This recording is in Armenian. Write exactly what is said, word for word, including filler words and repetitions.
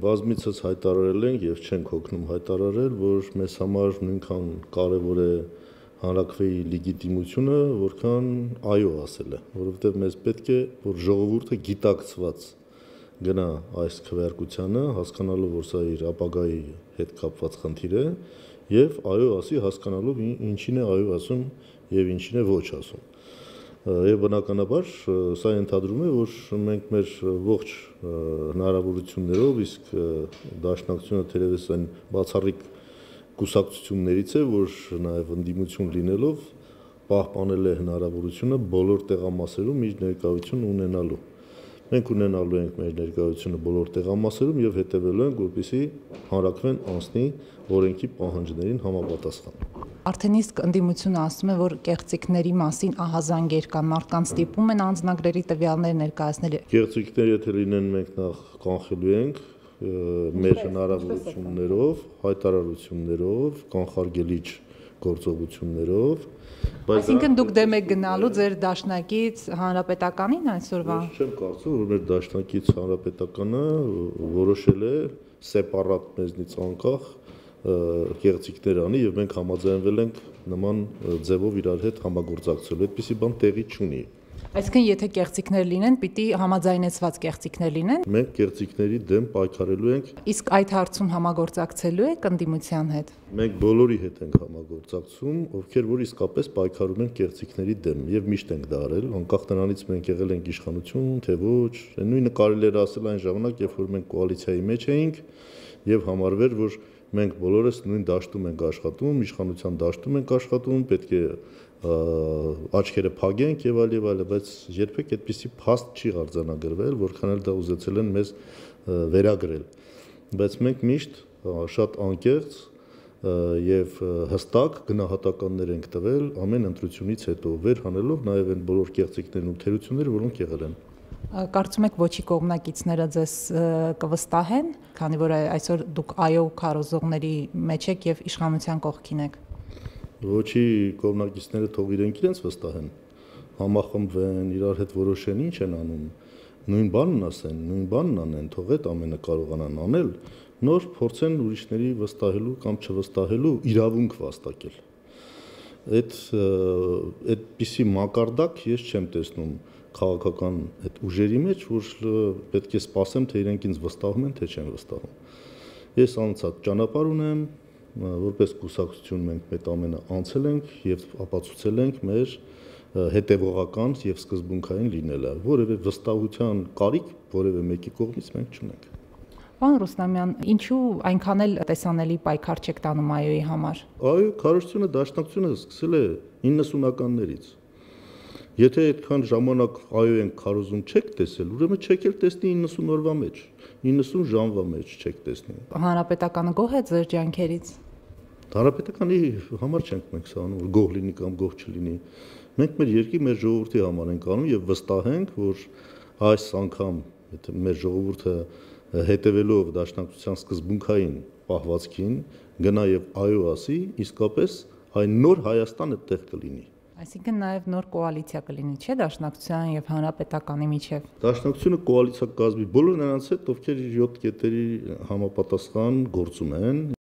բազմիցս հայտարարել ենք եւ չենք հոգնում հայտարարել, որ մեզ համար նույնքան կարեւոր է հանրաքվեի լեգիտիմությունը, որքան այո ասելը, որովհետեւ մեզ պետք է, որ ժողովուրդը գիտակցված գնա այս քվեարկությանը, հասկանալով, որ սա իր ապագայի հետ կապված խնդիր է, եւ այո ասի, հասկանալով ինչին է այո ասում եւ ինչին է ոչ ասում։ Եվ բնականաբար սա ենթադրում է, որ մենք մեր ողջ հնարավորություններով, իսկ Դաշնակցությունը թերևս այն բացառիկ կուսակցություններից է, որ նաև ընդդիմություն լինելով պահպանել է հնարավորությունը բոլոր տեղամասերում իր ներկայություն ունենալու։ Մենք ունենալու ենք մեր ներկայությունը բոլոր տեղամասերում եւ հետեւելու ենք, որպեսզի հանրաքվեն անցնի օրենքի պահանջներին համապատասխան։ Արդեն իսկ ընդդիմությունը ասում է, որ կեղծիքների մասին ահազանգեր կան, մարդկանց ստիպում են անձնագրերի տվյալներ ներկայացնել։ Կեղծիքներ եթե լինեն, մենք նախ կանխելու ենք մեր հնարավորություններով, հայտարարություններով, կանխարգելիչ գործողություններով։ Այսինքն դուք դեմ եք գնալու ձեր դաշնակից հանրապետականին այսօրվա։ Ես չեմ կարծում, որ մեր դաշնակից հանրապետականը որոշել է սեպարատ մեզնից անկախ կեղծիքներ անի եւ մենք համաձայնվել ենք նման ձևով իրար հետ համագործակցելու։ Այդպիսի բան տեղի չունի։ Այսինքն եթե կեղծիքներ լինեն, պիտի համաձայնեցված կեղծիքներ լինեն։ Մենք կեղծիքների դեմ պայքարելու ենք։ Իսկ այդ հարցում համագործակցելու եք ընդդիմության հետ։ Մենք բոլորի հետ ենք համագործակցում, ովքեր որ իսկապես պայքարում են կեղծիքների դեմ եւ միշտ ենք դա արել, անկախ նրանից մենք եղել ենք իշխանություն, թե ոչ։ Նույնը կարելի էր ասել այն ժամանակ, երբ որ մենք կոալիցիայի մեջ էինք եւ համարվեր, որ մենք բոլորս նույն դաշտում ենք աշխատում, իշխանության դաշտում ենք աշխատում, պետք է աչքերը փակենք եւ այլ եւ այլ, բայց երբեք այդպիսի փաստ չի արձանագրվել, որքան էլ դա ուզեցել են մեզ վերագրել։ Բայց մենք միշտ շատ անկեղծ եւ հստակ գնահատականներ ենք տվել ամեն ընտրությունից հետո, վեր հանելով նաեւ այն բոլոր կեղծիքներն ու թերությունները, որոնք եղել են։ Կարծում եք ոչի կողմնակիցները ձեզ կվստահեն, քանի որ այսօր դուք այո քարոզողների մեջ եք եւ իշխանության կողքին եք։ Ոչի կողմնակիցները թող իրենք իրենց վստահեն, համախմբվեն, իրար հետ որոշեն ինչ են անում, նույն բանն ասեն, նույն բանն անեն, թող այդ ամենը կարողանան անել, նոր փորձեն ուրիշների վստահելու կամ չվստահելու իրավունք վաստակել։ Այդ այդպիսի մակարդակ ես չեմ տեսնում քաղաքական այդ ուժերի մեջ, որ պետք է սպասեմ, թե իրենք ինձ վստահում են, թե չեն վստահում։ Ես անցած ճանապարհ ունեմ, որպես կուսակցություն մենք այդ ամենը անցել ենք եւ ապացուցել ենք մեր հետեւողական եւ սկզբունքային լինելը, որևէ վստահության կարիք որևէ մեկի կողմից մենք չունենք։ Պարոն Ռուստամյան, ինչու այնքան էլ տեսանելի պայքար չեք տանում այոյի համար։ Այո, քարոզությունը դաշնակցությունը սկսել է իննսունականներից։ Եթե այդքան ժամանակ այո ենք քարոզում չեք տեսել, ուրեմն չեք էլ տեսնի իննսուն օրվա մեջ, իննսուն ժամվա մեջ չեք տեսնի։ Հանրապետականը գոհ է ձեր ջանքերից։ Հանրապետականի համար չենք մենք սա անում, որ գոհ լինի կամ գոհ չլինի։ Մենք մեր երկրի, մեր ժողովրդի համար ենք անում եւ վստահ ենք, որ այս անգամ եթե մեր ժողովուրդը հետևելով դաշնակցության սկզբունքային պահվածքին գնա եւ այո ասի, իսկապես այն նոր Հայաստանը տեղ կլինի։ Այսինքն նաև նոր կոալիցիա կլինի, չէ՞, Դաշնակցության եւ Հանրապետականի միջև։ Դաշնակցությունը կոալիցիա կազմի բոլոր նրանց հետ, ովքեր իր յոթ կետերի համապատասխան գործում են։